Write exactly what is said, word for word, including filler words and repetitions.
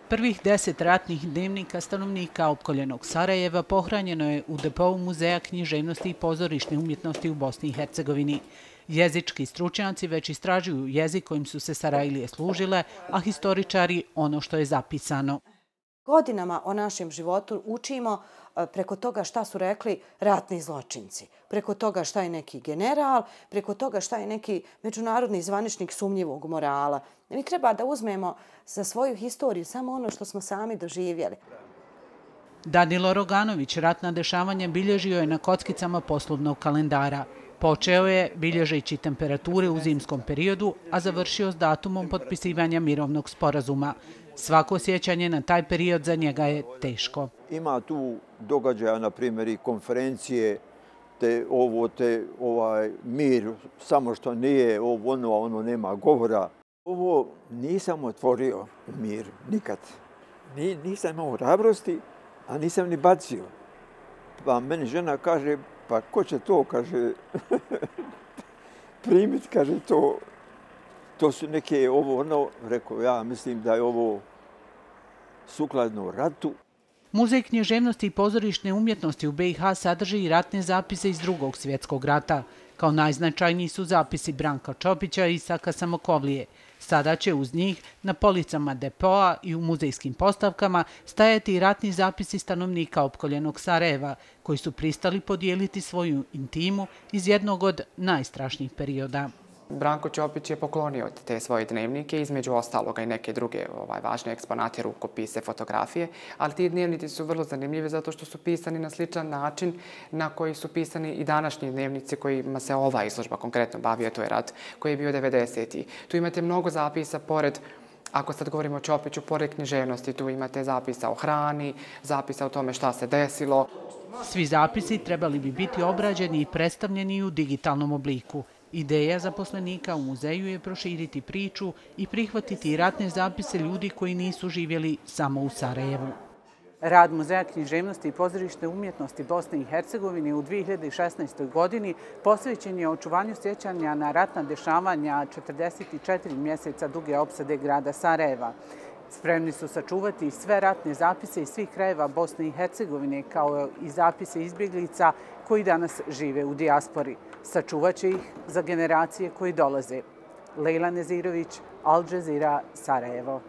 Prvih deset ratnih dnevnika stanovnika opkoljenog Sarajeva pohranjeno je u depou Muzeja književnosti i pozorišne umjetnosti u Bosni i Hercegovini. Jezički stručnjaci već istražuju jezik kojim su se Sarajlije služile, a historičari ono što je zapisano. Godinama o našem životu učimo preko toga šta su rekli ratni zločinci, preko toga šta je neki general, preko toga šta je neki međunarodni zvaničnik sumnjivog morala. Mi treba da uzmemo za svoju historiju samo ono što smo sami doživjeli. Danilo Roganović ratna dešavanja bilježio je na kockicama poslovnog kalendara. Počeo je bilježeći temperature u zimskom periodu, a završio s datumom potpisivanja mirovnog sporazuma. Svako sjećanje na taj period za njega je teško. Ima tu događaja, na primjer, i konferencije, te ovo, te ovaj mir, samo što nije ovo, ono, ono nema govora. Ovo nisam otvorio u mir nikad. Ni, nisam imao hrabrosti, a nisam ni bacio. Pa meni žena kaže, pa ko će to, kaže, primiti, kaže, to, to su neke ovo, ono, rekao, ja mislim da je ovo sukladno ratu. Muzej književnosti i pozorišne umjetnosti u B i H sadrži i ratne zapise iz Drugog svjetskog rata. Kao najznačajniji su zapisi Branka Čopića i Isaka Samokovlije. Sada će uz njih na policama depoa i u muzejskim postavkama stajati i ratni zapisi stanovnika opkoljenog Sarajeva, koji su pristali podijeliti svoju intimu iz jednog od najstrašnijih perioda. Branko Ćopić je poklonio te svoje dnevnike, između ostaloga i neke druge ovaj, važne eksponate, rukopise, fotografije, ali ti dnevnici su vrlo zanimljivi zato što su pisani na sličan način na koji su pisani i današnji dnevnici kojima se ova izložba konkretno bavi, a to je rat koji je bio devedesetih. Tu imate mnogo zapisa pored, ako sad govorimo o Ćopiću, pored književnosti, tu imate zapisa o hrani, zapisa o tome šta se desilo. Svi zapisi trebali bi biti obrađeni i predstavljeni u digitalnom obliku. Ideja zaposlenika u muzeju je proširiti priču i prihvatiti ratne zapise ljudi koji nisu živjeli samo u Sarajevu. Rad Muzeja književnosti i pozorišne umjetnosti Bosne i Hercegovine u dvije hiljade šesnaestoj. godini posvećen je očuvanju sjećanja na ratna dešavanja četrdeset četiri mjeseca duge opsade grada Sarajeva. Spremni su sačuvati sve ratne zapise iz svih krajeva Bosne i Hercegovine, kao i zapise izbjeglica koji danas žive u dijaspori. Sačuvat će ih za generacije koji dolaze. Lejla Nezirović, Al Jazeera, Sarajevo.